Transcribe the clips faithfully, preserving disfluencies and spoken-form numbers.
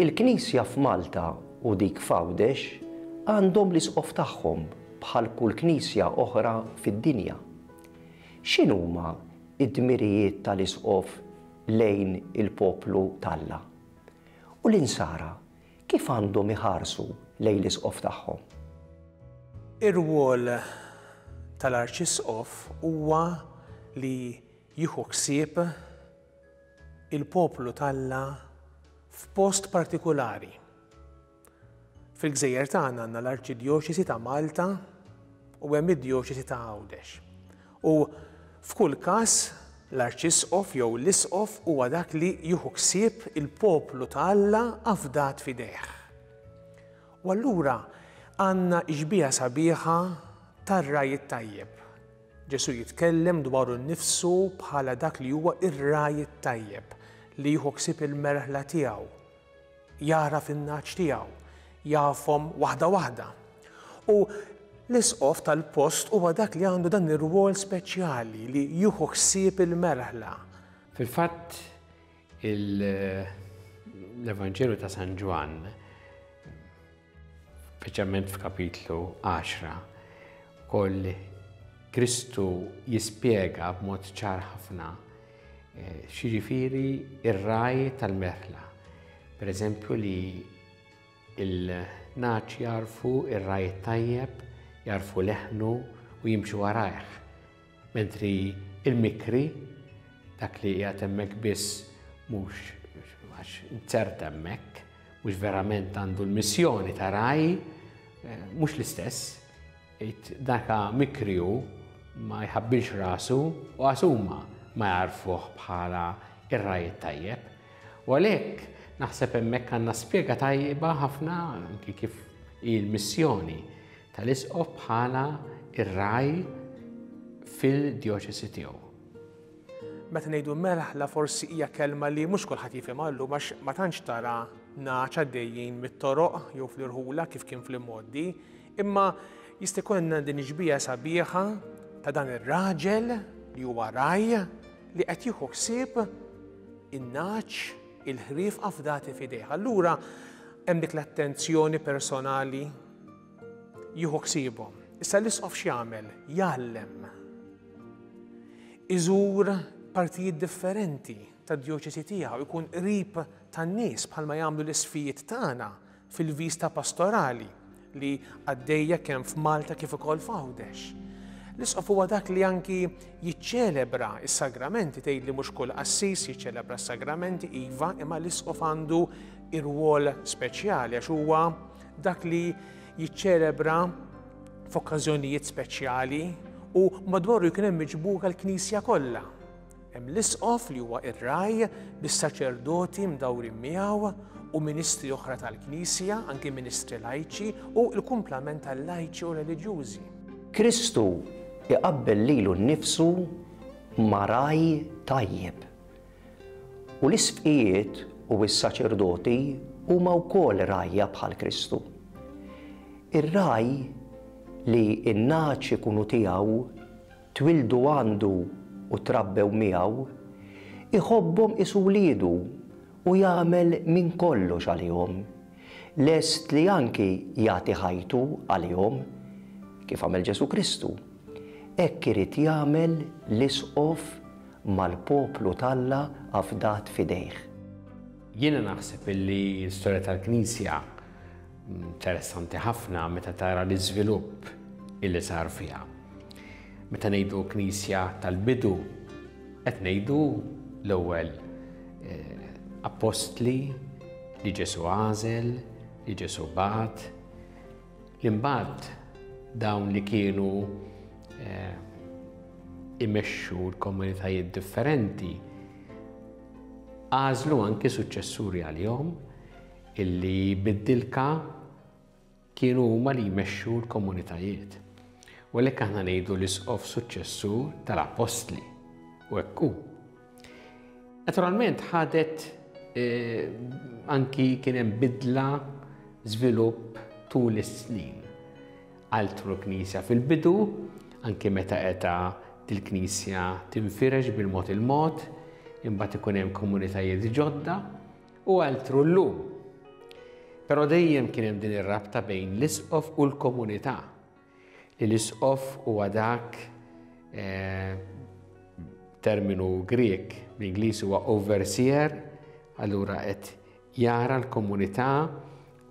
Il-Knisja f'Malta u dik f'Għawdex għandhom l-isqof tagħhom bħal kull knisja oħra fid-dinja. X'inhuma id-dmirijiet tal-isqof lejn il-poplu t'Alla? U l-insara kif għandhom iħarsu lejn l-isqof tagħhom? Ir-rwol tal-Arċisqof huwa li jieħu ħsieb il-poplu t'Alla f'post partikolari. Fil-gżejjer tagħna għandna l-Arċidjoċesi ta' Malta u hemm id-Djoċesi ta' Għawdex. U f'kull każ l-Arċisqof jew l-Isqof huwa dak li jieħu ħsieb il-poplu ta' Alla afdat f'idejh. U allura għandna xbieha sabiħa tar-ragħaj it-tajjeb. Ġesu jitkellem dwaru nnifsu bħala dak li huwa ir-ragħaj it-tajjeb li jieħu ħsieb il-merħla tiegħu, jagħraf in-nagħaġ tiegħu, jafhom waħda waħda. U l-isqof tal-post huwa dak li għandu dan ir-rwol speċjali li jieħu ħsieb il-merħla. Fil-fatt l-Evanġelju ta' San Ġwann, speċjalment f'kapitlu għaxra, koll Kristu jispjega b'mod ċar ħafna x'jiġifieri ir-ragħaj tal-merħla. Per eżempju li il-nagħaġ jarfu ir-ragħaj tajjeb, jarfu leħnu u jimxu warajh. Mentri il-mikri, dak li qiegħed hemmhekk biss mhux għax inzert hemmhekk, mhux verament għandu l-missjoni ta' ragħaj, mhux l-istess. Daka mikri hu ma jħabbilx rasu u għasuma ma jarfuh bħala ir-ragħaj tajjeb. U għalhekk naħseb hemmhekk għandna spjega tajba ħafna anki kif il-missjoni tal-isqof bħala ir-ragħaj fil-djoċesi tiegħu. Meta ngħidu merħla forsi hija kelma li mhux kulħadd jifhimha llum għax ma tantx tara nagħaġ għaddejjin mit-toroq jew fl-irħula kif kien fl-immoddi, imma jista' jkollna din ix-xbieha sabiħa ta' dan ir-raġel li huwa ragħaj li qed jieħu ħsieb in-nagħaġ, il-ħrief afdati f'idejh. Allura hemm dik l-attenzjoni personali jieħu ħsiebhom. Issa l-isqof x'jagħmel? Jgħallem. Iżur partijiet differenti tad-djoċesi tiegħu, ikun qrib tan-nies bħalma jagħmlu l-isqfijiet tagħna fil-viżta pastorali li għaddejja kemm f'Malta kif ukoll f'Għawdex. L-isqof huwa dak li anki jiċċelebra s-sagramenti, tgħid li mhux kull qassis jiċċelebra s-sagramenti, iva, imma l-isqof għandu ir-rwol speċjali għax huwa dak li jiċċelebra f'okkażjonijiet speċjali u madwaru jkun hemm miġbuka l-Knisja kollha. Hemm l-isqof li huwa ir-ragħaj bis-saċerdoti mdawrin miegħu u ministri oħra tal-Knisja, anki ministri lajċi u l-kumplament tal-lajċi u reliġjużi. Kristu iqabbel lilu nnifsu ma' ragħaj tajjeb. U l-isqfijiet u s-saċerdoti huma wkoll rgħajja bħal Kristu. Ir-ragħaj li n-nagħaġ ikunu tiegħu, twildu għandu u trabbew miegħu, iħobbhom qisu wliedu u jagħmel minn kollox għalihom. Lest li anki jagħti ħajtu għalihom, kif għamel Ġesu Kristu. Hekk irid jagħmel l-isqof mal-poplu t'Alla afdat f'idejh. Jiena naħseb illi l-istorja tal-Knisja interessanti ħafna meta tara l-iżvilupp illi sar fiha. Meta ngħidu Knisja tal-bidu, qed ngħidu l-ewwel, eh, apostli li Ġesu għażel, li Ġesu bagħat, li mbagħad dawn li kienu, eh, imexxu l-komunitajiet differenti għażlu anki suċċessuri għalihom illi bid-dilka kienu huma li jmexxu l-komunitajiet. U għalhekk aħna ngħidu l-isqof suċċessur tal-apostli u hekk hu. Naturalment ħadet, eh, anki kien hemm bidla, żvilupp tul is-snin. Altru l-Knisja fil-bidu, anki meta qeta il-Knisja tinfirex bil-mod il-mod, imbagħad ikun hemm komunitajiet ġodda, u altru llum. Però dejjem kien hemm din ir-rabta bejn l-isqof u l-komunità. Li l-isqof huwa dak eh, terminu Grek, bl-Ingliż huwa overseer, allura qed jara l-komunità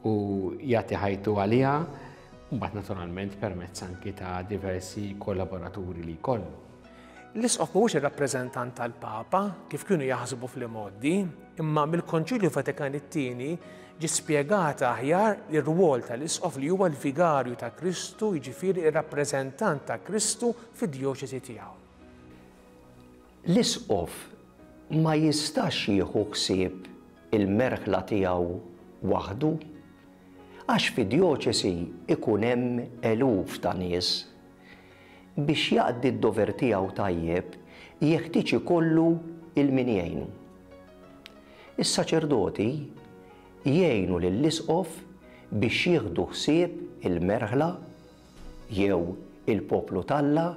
u jagħti ħajtu għaliha, mbagħad naturalment permezz anki ta' diversi kollaboraturi li jkollu. L-isqof mhuwiex ir-rappreżentant tal-Papa kif kienu jaħsbu fl-imgħoddi, imma mill-Konċilju Vatikan it-Tieni ġie spjegata aħjar ir-rwol tal-isqof li huwa l-vigarju ta' Kristu, jiġifieri ir-rappreżentant ta' Kristu fid-djoċesi tiegħu. L-isqof ma jistax jieħu ħsieb il-merħla tiegħu waħdu, għax fid-djoċesi ikun hemm eluf ta' nies. Biex jaqdi d-dover tiegħu tajjeb, jeħtieġ ikollu il-min jgħinu. Is-saċerdoti jgħinu lill-isqof biex jieħdu ħsieb il-merħla jew il-poplu t'Alla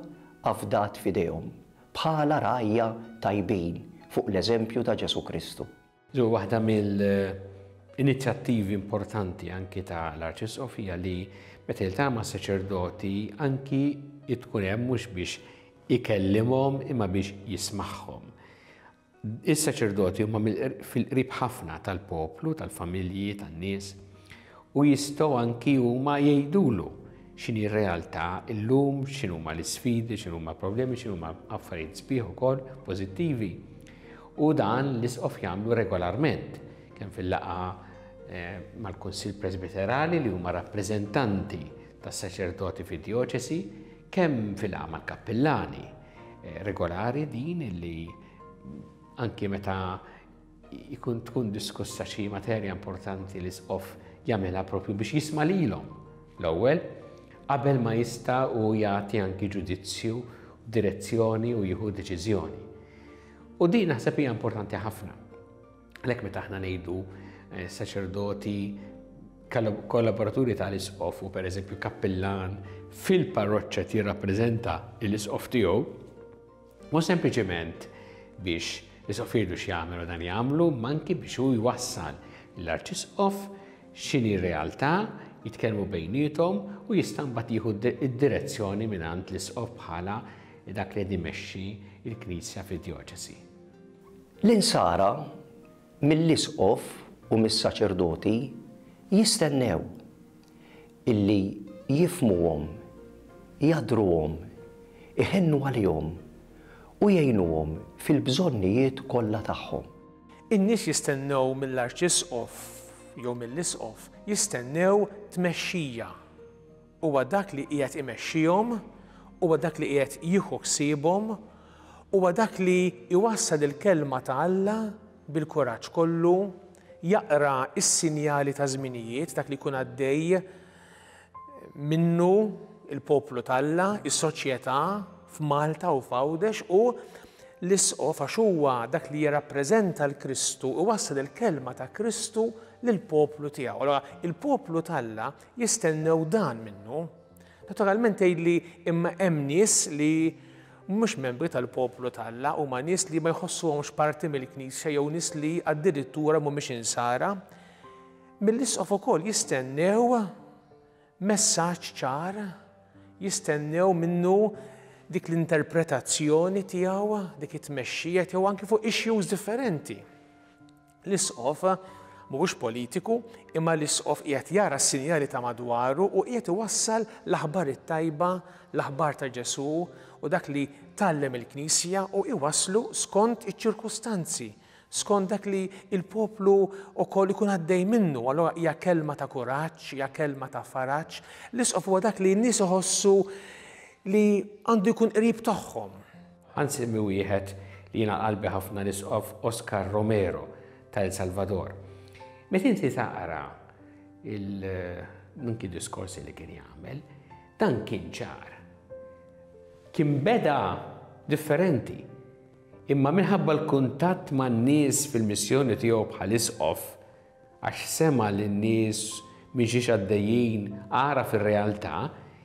afdat f'idejhom bħala rgħajja tajbin fuq l-eżempju ta' Ġesù Kristu. Ġu waħda mill-inizjattivi importanti anki ta' l-Arċisqof hija li meta jiltaqa' ma' saċerdoti anki tkun hemm mhux biex ikellimhom imma biex jismagħhom. Is-saċerdoti huma fil-qrib ħafna tal-poplu, tal-familji, tan-nies, u jistgħu anki huma jgħidulu x'inhi r-realtà illum, x'inhuma l-isfidi, x'inhuma problemi, x'inhuma affarijiet sbieħ ukoll pożittivi. U dan l-isqof jagħmlu regolarment, kemm fil-laqgħa eh, mal-Kunsill Presbiterali li huma rappreżentanti tas-saċerdoti fid-djoċesi, kemm fil-laqgħa mal-kappillani eh, regolari din li anki meta jkun tkun diskussa xi materja importanti l-isqof jagħmilha propju biex jisma' lilhom l-ewwel qabel ma jista' u jagħti anki ġudizzju, direzzjoni u jieħu deċiżjoni. U din naħseb hija importanti ħafna. Għalhekk meta aħna ngħidu eh, saċerdoti kollaboraturi tal-isqof u pereżempju kappillan fil-parroċċa jirrappreżenta l-isqof tiegħu, mhux sempliċement biex l-isqof jgħidu x'jagħmel u dan jagħmlu, ma anki biex hu jwassal l-arċisqof x'inhi r-realtà, jitkellmu bejniethom u jista' mbagħad jieħu id-direzzjoni mingħand l-isqof bħala dak li qed imexxi l-Knisja fid-djoċesi. L-insara mill-isqof u mis-saċerdoti jistennew illi jifmuhom, jadruhom, iħennu għalihom u jgħinuhom fil-bżonnijiet kollha tagħhom. In-nies jistennew mill-arċisqof jew mill-isqof, jistennew tmexxija. Huwa dak li qiegħed imexxihom, huwa dak li qiegħed jieħu ħsiebhom, huwa dak li jwassal il-kelma ta' Alla bil-kuraġġ kollu, jaqra s-sinjali ta' żminijiet, dak li jkun għaddej minnu il-poplu t'Alla, is-soċjetà f'Malta u f'Għawdex, u l-isqof għax huwa dak li jirrappreżenta l-Kristu u wassal il-kelma ta' Kristu lill-poplu tiegħu. Allora, il-poplu t'Alla jistennew dan minnu. Naturalment tgħidli imma hemm nies li mhux membri tal-poplu t'Alla, huma nies li ma jħossuhomx parti mill-Knisja jew nies li addirittura mhumiex insara. Mill-isqof ukoll jistennew messaġġ ċar, jistennew minnu dik l-interpretazzjoni tiegħu, dik it-tmexxija tiegħu anki fuq issues differenti. L-isqof mhuwiex politiku, imma l-isqof qiegħed jara s-sinjali ta' madwaru u qiegħed iwassal l-aħbar it-tajba, l-aħbar ta' Ġesù u dak li tgħallem il-Knisja u iwasslu skont iċ-ċirkustanzi, skont dak li il-poplu wkoll ikun għaddej minnu. Allura hija kelma ta' kuraġġ, hija kelma ta' faraġ. L-isqof huwa dak li n-nies iħossu li għandu jkun qrib tagħhom. Ħa nsemmi wieħed li jiena qalbi ħafna, l-isqof Oscar Romero ta' El Salvador. Meta inti taqra il-anki diskorsi li kien jagħmel, dan kien ċar. Kien beda differenti, imma minħabba l-kuntatt man-nies fil-missjoni tiegħu bħal isqof, għax sema lin-nies minn xiex għaddejjin, ara fir-realtà,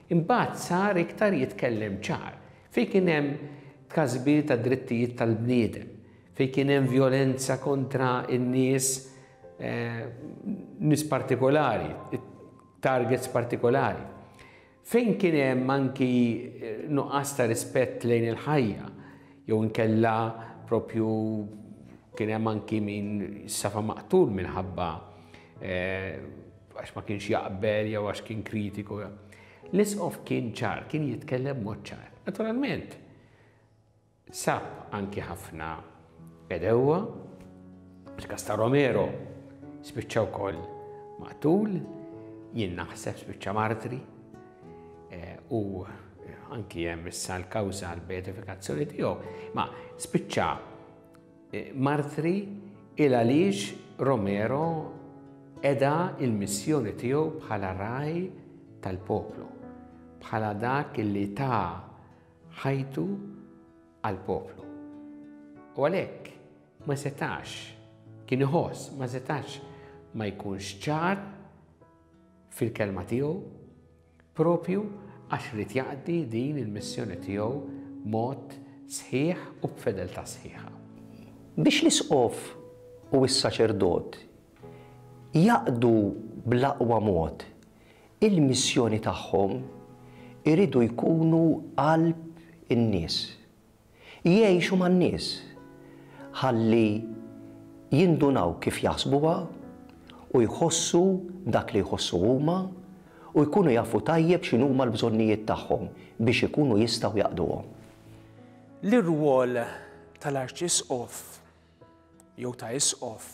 imbagħad sar iktar jitkellem ċar. Fejn kien hemm tkażbir ta' drittijiet tal-bniedem, fejn kien hemm violenza kontra n-nies nies partikolari, targets partikolari. Fejn kien hemm anki nuqqas ta' rispett lejn il-ħajja, jew inkella propju kien hemm anki min safa maqtul minħabba għax ma kienx jaqbel jew għax kien kritiku. L-isqof kien ċar, kien jitkellem mod ċar. Naturalment, sab anki ħafna edewa, il-każ ta' Romero spiċċa wkoll maqtul, jien naħseb spiċċa martri, u anki hemm issa l-kawża għall-beatifikazzjoni tiegħu, ma spiċċa martri il għaliex Romero eda il-missjoni tiegħu bħala raj tal-poplu, bħala dak li ta' ħajtu għal-poplu. U għalhekk ma setax, kien iħoss, ma setax ma jkunx ċar fil-kelma tiegħu propju għax irid jaqdi din il-missjoni tiegħu mod sħiħ u b'fedeltà sħiħa. Biex l-isqof u s-saċerdot jaqdu bl-aqwa mod il-missjoni tagħhom, iridu jkunu qalb in-nies. Jgħixu man-nies ħalli jindunaw kif jaħsbuha u jħossu dak li jħossu huma u jkunu jafu tajjeb x'inhuma l-bżonnijiet tagħhom biex ikunu jistgħu jaqduhom. L-irwol tal-arċisqof jew ta' isqof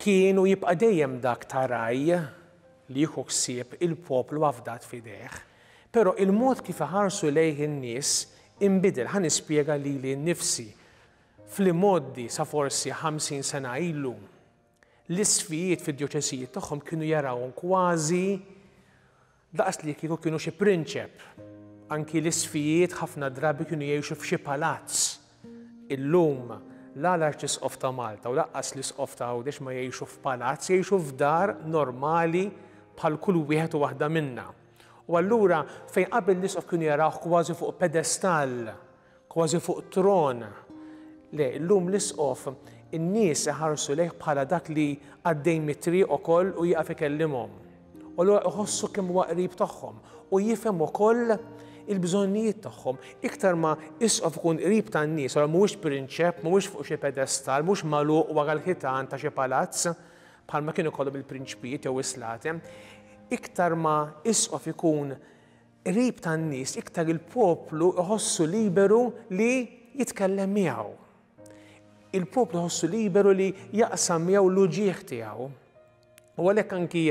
kienu jibqa' dejjem dak ta' raj li jieħu ħsieb il-poplu afdat f'idejh, però il-mod kif iħarsu lejh in-nies inbidel. Ħa nispjega lili nnifsi. Fl-imgħoddi sa forsi ħamsin sena ilu, l-isfijiet fid-djoċesijiet tagħhom kienu jarawhom kważi daqs li kieku kienu xi prinċep. Anki l-isfijiet ħafna drabi kienu jgħixu f'xi palazz. Illum la l-arċisqof ta' Malta u lanqas l-isqof ta' Għawdex ma jgħixu f'palazz, jgħixu f'dar normali bħal kull wieħed u waħda minna. U allura fejn qabel l-isqof kienu jarawh kważi fuq pedestall, kważi fuq tron. Le, illum l-isqof in-nies iħarsu lejh bħala dak li għaddej mit-triq ukoll u jieqaf ikellimhom. U allura iħossu kemm huwa qrib tagħhom u jifhem ukoll il-bżonnijiet tagħhom. Iktar ma isqof ikun qrib tan-nies, allura mhuwiex prinċep, mhuwiex fuq xi pedestal, mhux magħluq wara l-ħitan ta' xi palazz bħalma kienu jkollhom il-prinċpijiet jew is-slatem. Iktar ma isqof ikun qrib tan-nies, iktar il-poplu iħossu liberu li jitkellem miegħu. Il-poplu iħossu liberu li jaqsam miegħu l-uġieħ tiegħu. U għalhekk anki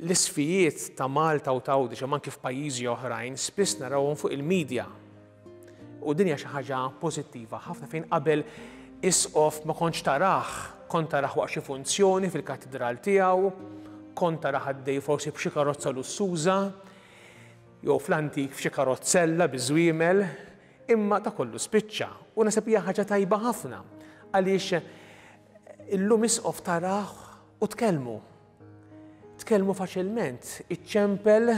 l-isfijiet ta' Malta u ta' Għawdex, imma anki f'pajjiżi oħrajn, spiss narawhom fuq il-medja. U din hija xi ħaġa pożittiva ħafna fejn qabel isqof ma kontx tarah, kont tarah waqt xi funzjoni fil-katedral tiegħu, kont tarah għaddej forsi b'xi karozza lussuża, jew fl-antik f'xi karozzella biż-żwiemel, imma ta' kollu spiċċa. U naħseb hija ħaġa tajba ħafna għaliex illum isqof tarah u tkellmu. Tkellmu faċilment, iċċempel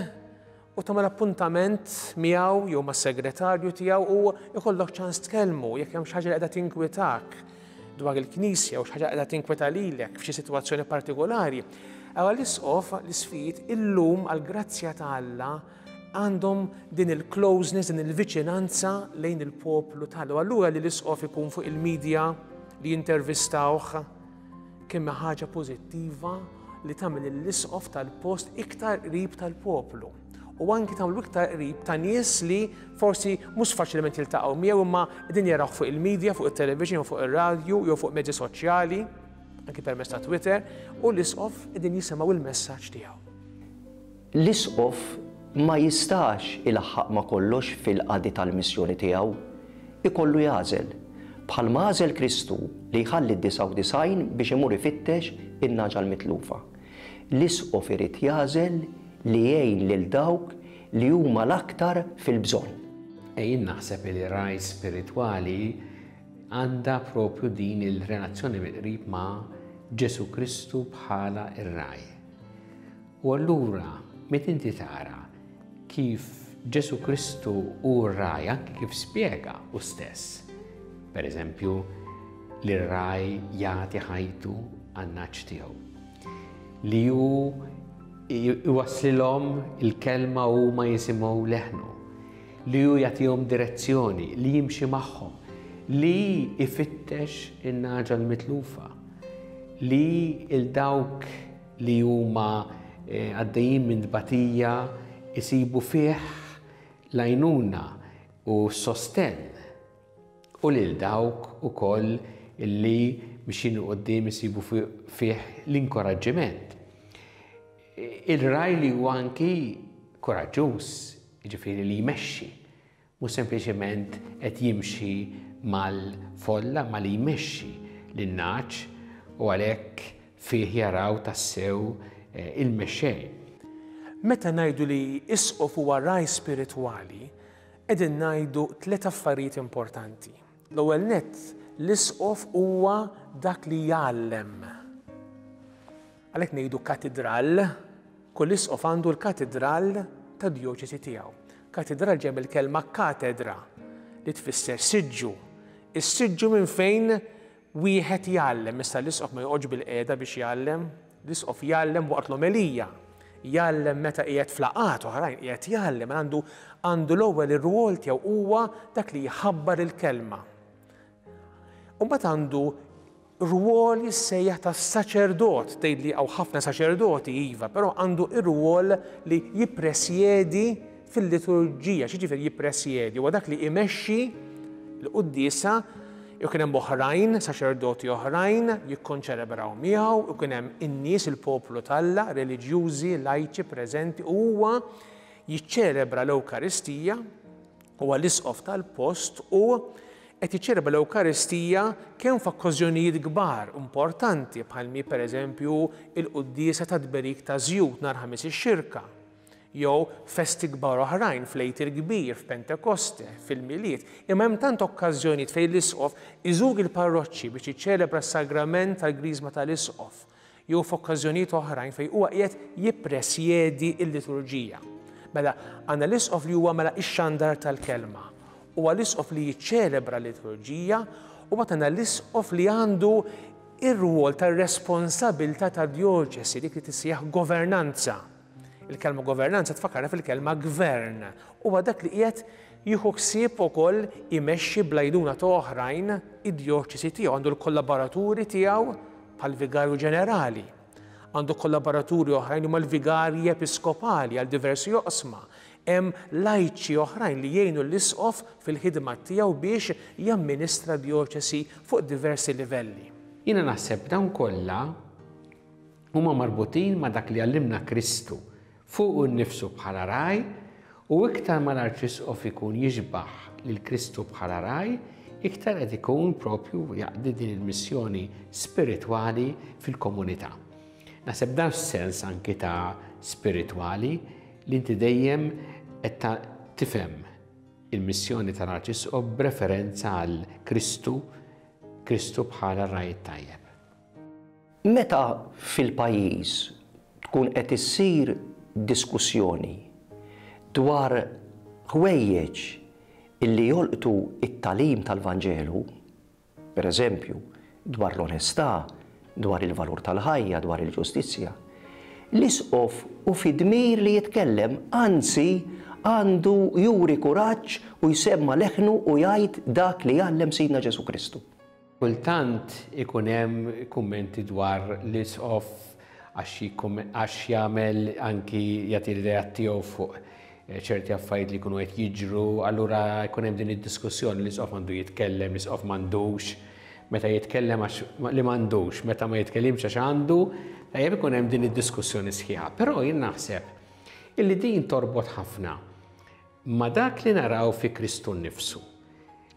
u tagħmel appuntament miegħu jew mas-segretarju tiegħu u jkollok ċans tkellmu jekk hemm xi ħaġa li qiegħda tinkwetak dwar il-Knisja u xi ħaġa qiegħda tinkweta lilek f'xi sitwazzjoni partikolari. Allura l-isqof, l-isfijiet illum għall-grazzja ta' Alla għandhom din il-closeness, din il-viċinanza lejn il-poplu tal. Allura li l-isqof ikun fuq il-medja li jintervistawh kemm ħaġa pożittiva li tagħmel l-isqof tal-post iktar qrib tal-poplu. U anki tagħmlu iktar qrib ta' nies li forsi mhux faċilment jiltaqgħu miegħu imma qegħdin jarawh fuq il-medja, fuq it-television, jew fuq ir-radju, jew fuq mezzi soċjali, anki permezz ta' Twitter, u l-isqof qegħdin jisimgħu il-messaġġ tiegħu. L-isqof ma jistax ilaħħaq ma kollox fil-qadi tal-missjoni tiegħu, ikollu jagħżel. Bħalma għażel Kristu li jħalli d-disgħa u disgħin biex imur ifittex in-naġa l-mitlufa. L-isqof irid jagħżel li jgħin lil dawk li huma l-aktar fil-bżonn. Jien naħseb li raj spiritwali għandha propju din il-relazzjoni mill-qrib ma' Ġesu Kristu bħala ir-raj. U allura, meta inti tara kif Ġesu Kristu hu r-raj, anki kif spjega hu stess. Per eżempju, li r-raj jagħti ħajtu għan-nagħaġ tiegħu. Li hu iwasslilhom il-kelma u ma jisimgħu leħnu, li hu jagħtihom direzzjoni, li jimxi magħhom, li ifittex in-nagħġa l-mitlufa, li il dawk li huma għaddejjin minn tbatija jsibu fih l-għajnuna u s-sostenn, u lil dawk ukoll illi mixjin quddiem isibu fih l-inkoraġġiment. Il-ragħaj li huwa anki koraġġuż, jiġifieri li jmexxi, mhux sempliċement qed jimxi mal-folla, ma li jmexxi lin-nagħaġ, u għalhekk fih jaraw tassew il-mexxej. Meta ngħidu li isqof huwa ragħaj spiritwali, qegħdin ngħidu tliet affarijiet importanti. L-ewwel nett, l-isqof huwa dak li jgħallem. Għalhekk ngħidu katedral, kull isqof għandu l-katedral ta' djoċesi tiegħu. Katedral ġej mill-kelma katedra li tfisser siġġu. Is-siġġu minn fejn wieħed jgħallem. Issa l-isqof ma joqgħodx bil-qiegħda biex jgħallem, l-isqof jgħallem waqt l-omelija, jgħallem meta qiegħed f'laqgħat oħrajn, qiegħed jgħallem, għandu, għandu l-ewwel ir-rwol tiegħu huwa dak li jħabbar il-kelma. U mbagħad għandu rwol jissejjaħ ta' saċerdot, tgħid li hawn ħafna saċerdoti iva, però għandu ir-rwol li jippresjedi fil-liturġija. X'jiġifieri jippresjedi? Huwa dak li imexxi l-quddiesa, jew kien hemm oħrajn, saċerdoti oħrajn, jikkonċelebraw miegħu, u kien hemm in-nies, il-poplu t'Alla, reliġjużi, lajċi preżenti, u huwa jiċċelebra l-Ewkaristija, huwa l-isqof tal-post u qed jiċċelebra l-Ewkaristija kemm f'okkażjonijiet kbar importanti bħalmi pereżempju il-quddiesa ta' tberik ta' żjut nhar Ħamis ix-Xirka, jew festi kbar oħrajn fl-Għid il-Kbir, f'Pentekoste, fil-Milied. Imma hemm tant okkażjonijiet fejn l-isqof iżur il-parroċċi biex jiċċelebra s-sagrament tal-Griżma tal-Isqof, jew f'okkażjonijiet oħrajn fejn huwa qiegħed jippresjedi l-liturġija. Mela għandna l-isqof li huwa mela ix-xandar tal-kelma, huwa l-isqof li jiċċelebra l-liturġija, u mbagħad għandna l-isqof li għandu ir-rwol tar-responsabilità tad-djoċesi, dik li tissejjaħ governanza. Il-kelma governanza tfakkarha fil-kelma gvern. Huwa dak li qiegħed jieħu ħsieb ukoll imexxi bl-għajnuna ta' oħrajn id-djoċesi tiegħu, għandu l-kollaboraturi tiegħu bħall-vigarju ġenerali, għandu kollaboraturi oħrajn huma l-vigarji episkopali għal diversi oqsma. Hemm lajċi oħrajn li jgħinu l-isqof fil-ħidma tiegħu biex jamministra djoċesi fuq diversi livelli. Jiena naħseb dawn kollha huma marbutin ma' dak li għallimna Kristu fuq innifsu bħala ragħaj, u iktar ma l-Arċisqof ikun jixbaħ lil Kristu bħala ragħaj, iktar qed ikun propju jaqdi din il-missjoni spiritwali fil-komunità. Naħseb dan sens anki ta' spiritwali li inti dejjem qed tifhem il-missjoni tal-Arċisqof b'referenza għal Kristu, Kristu bħala ragħaj tajjeb. Meta fil-pajjiż tkun qed issir diskussjoni dwar ħwejjeġ illi jolqtu it-tagħlim tal-Vanġelu, per eżempju, dwar l-onestà, dwar il-valur tal-ħajja, dwar il-ġustizzja, l-isqof u fi dmir li jitkellem, anzi għandu juri kuraġġ u jsemma leħnu u jgħid dak li jgħallem Sidna Ġesu Kristu. Kultant ikun hemm kummenti dwar l-isqof għax jagħmel anki jagħti l-idea tiegħu fuq ċerti affarijiet li jkunu qed jiġru, allura jkun hemm din id-diskussjoni l-isqof għandu jitkellem, l-isqof m'għandux, meta jitkellem għax li m'għandux, meta ma jitkellimx għax għandu, tajjeb ikun hemm din id-diskussjoni sħiħa. Però jien naħseb illi din torbot ħafna ma dak li naraw fi Kristu nnifsu,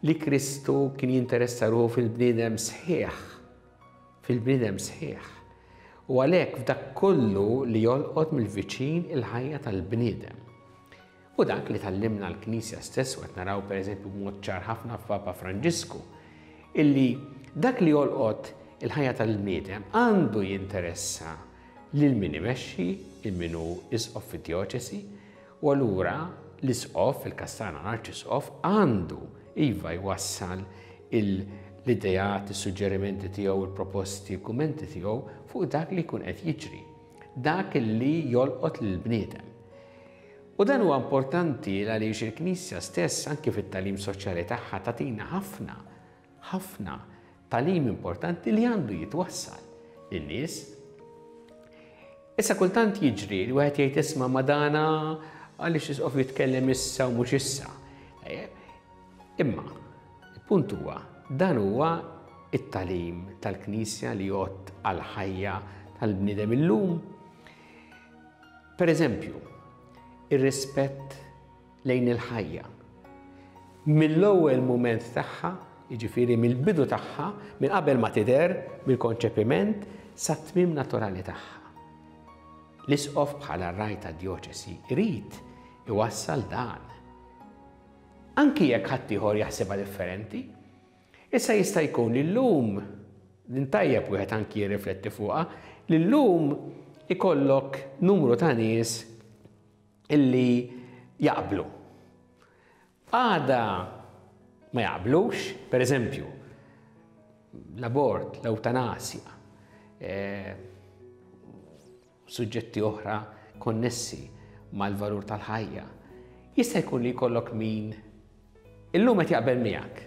li Kristu kien jinteressa ruħu fil-bniedem sħiħ, fil-bniedem sħiħ. U għalhekk f'dak kollu li jolqot mill-viċin il-ħajja tal-bniedem. U dak li tallimna l-Knisja stess, u qed naraw pereżempju b'mod ċar ħafna f'Papa Franġisku, illi dak li jolqot il-ħajja tal-bniedem għandu jinteressa lil min imexxi, il min hu isqof fid-djoċesi, u allura l-isqof, il-kastana l-arċisqof, għandu iva jwassal l-ideat, is-suġġerimenti tiegħu, il-proposti, il-kummenti tiegħu fuq dak li jkun qed jiġri, dak li jolqot lill-bniedem. U dan huwa importanti għaliex il-Knisja stess anke fit-tagħlim soċjali tagħha tagħtina ħafna, ħafna tagħlim importanti li għandu jitwassal lin-nies. Issa kultant jiġri li wieħed jgħid isma' ma dana għaliex isqof jitkellem issa u mhux issa. Imma, il-punt huwa, dan huwa it-tagħlim tal-Knisja li jgħodd għall-ħajja tal-bniedem illum. Per eżempju, ir-rispett lejn il-ħajja. Mill-ewwel mument tagħha, jiġifieri mill-bidu tagħha, minn qabel ma tidher, mill-konċepiment, sat-tmiem naturali tagħha. L-isqof bħala ragħaj tad-djoċesi jrid iwassal dan. Anki jekk ħaddieħor jaħsibha differenti, issa jista' jkun li llum, din tajjeb wieħed anki jirrifletti fuqha, li llum ikollok numru ta' nies illi jaqblu. Għada ma jaqblux, per eżempju, l-abort, l-eutanasja, eh, suġġetti oħra konnessi mal-valur tal-ħajja. Jista' jkun li jkollok min illum qed jaqbel miegħek.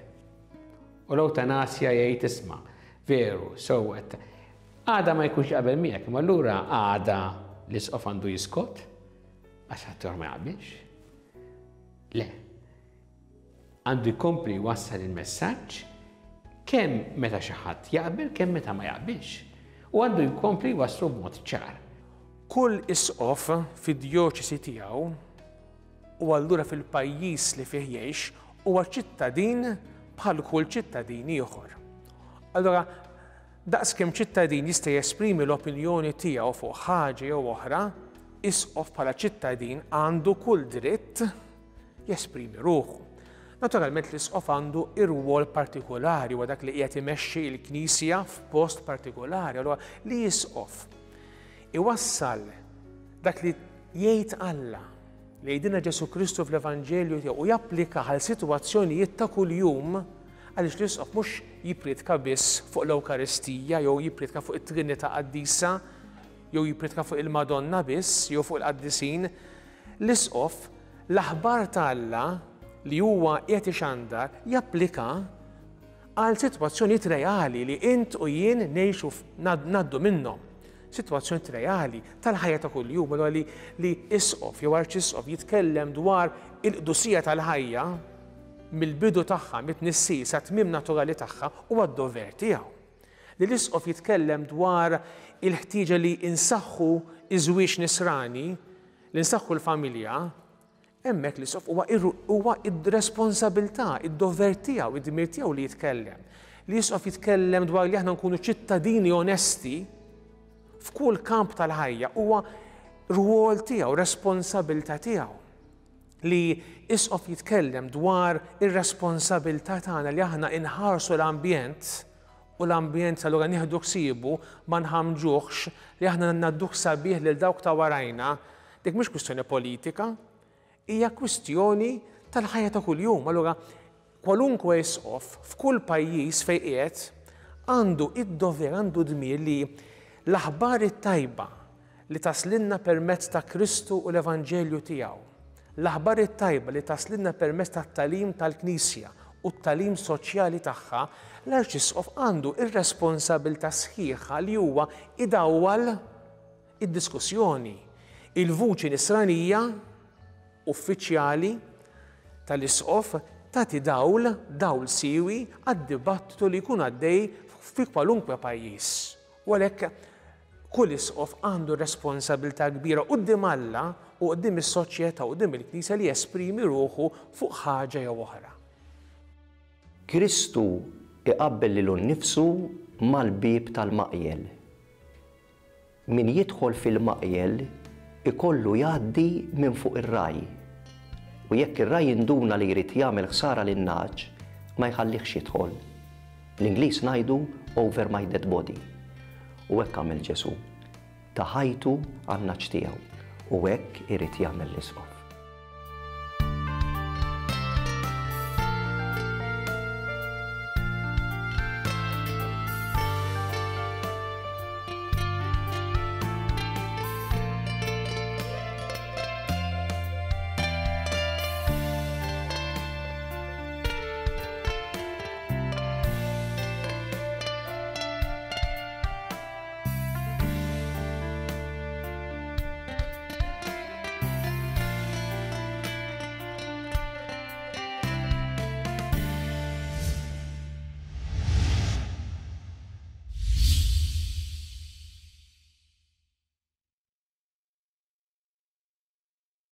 U l-eutanasja jgħid isma' veru, sewwet. Għada ma jkunx jaqbel miegħek, imma allura għada l-isqof għandu jiskot għax ħadd ma jaqbilx. Le. Għandu jkompli jwassal il-messaġġ kemm meta xi ħadd jaqbel, kemm meta ma jaqbilx. U għandu jkompli jwasslu b'mod ċar. Kull isqof fid-djoċesi tiegħu u allura fil-pajjiż li fih jgħix huwa ċittadin bħal kull ċittadin ieħor. Allura, daqskemm ċittadin jista' jesprimi l-opinjoni tiegħu fuq ħaġa jew oħra, isqof bħala ċittadin għandu kull dritt jesprimi ruħu. Naturalment l-isqof għandu ir-rwol partikolari u dak li qiegħed imexxi l-Knisja f'post partikolari. Allura li isqof iwassal dak li jgħid Alla, li jgħidilna Ġesù Kristu fl-Evanġelju tiegħu u japplika għal sitwazzjonijiet ta' kuljum, għaliex l-isqof mhux jippriedka biss fuq l-Ewkaristija jew jippriedka fuq it-Trinità Qaddisa jew jippriedka fuq il-Madonna biss jew fuq il-qaddisin. L-isqof l-aħbar ta' Alla li huwa qiegħed ixandar japplika għal sitwazzjonijiet reali li int u jien ngħixu ngħaddu minnhom. Sitwazzjonijiet reali tal-ħajja ta' kuljum, allura li, li isqof jew arċisqof jitkellem dwar il-qdusija tal-ħajja mill-bidu tagħha, mit-tnissil sa tmiem naturali tagħha, huwa d-dover tiegħu. Li l-isqof jitkellem dwar il-ħtieġa li insaħħu iż-żwieġ nisrani, li nsaħħu l-familja, hemmhekk l-isqof huwa huwa id-responsabilità, id-dover tiegħu, id-dmir tiegħu li jitkellem. Li l-isqof jitkellem dwar li aħna nkunu ċittadini onesti f'kull kamp tal-ħajja huwa rwol tiegħu, responsabilità tiegħu. Li isqof jitkellem dwar ir-responsabilità tagħna li aħna inħarsu l-ambjent u l-ambjent allura nieħdu ħsiebu ma nħamġuhx, li aħna ngħadduh sabiħ lil dawk ta' warajna, dik mhux kwistjoni politika, hija kwistjoni tal-ħajja ta' kuljum. Allura kwalunkwe isqof f'kull pajjiż fejn qiegħed għandu id-dover, għandu dmir li l-aħbar it-tajba li taslinna permezz ta' Kristu u l-Evanġelju tiegħu, l-aħbar it-tajba li taslinna permezz tat-tagħlim tal-Knisja u t-tagħlim soċjali tagħha, l-Arċisqof għandu ir-responsabilità sħiħa li huwa idawwal id-diskussjoni, il-vuċi nisranija uffiċjali tal-isqof tagħti dawl, dawl siwi għad-dibattitu li jkun għaddej fi kwalunkwe pajjiż. U għalhekk kull isqof għandu responsabilità kbira quddiem Alla u quddiem is-soċjetà u quddiem il-Knisja li jesprimi ruħu fuq ħaġa jew oħra. Kristu iqabbel lilu nnifsu mal-bieb tal-maqjel. Min jidħol fil-maqjel ikollu jgħaddi minn fuq ir-raj. U jekk ir-raj jinduna li jrid jagħmel ħsara lin-nagħaġ, ma jħallihx jidħol. Bl-Ingliż ngħidu over my dead body. U hekk għamel Ġesù, ta' ħajtu għan-nagħaġ tiegħu, u hekk irid jagħmel l-isqof.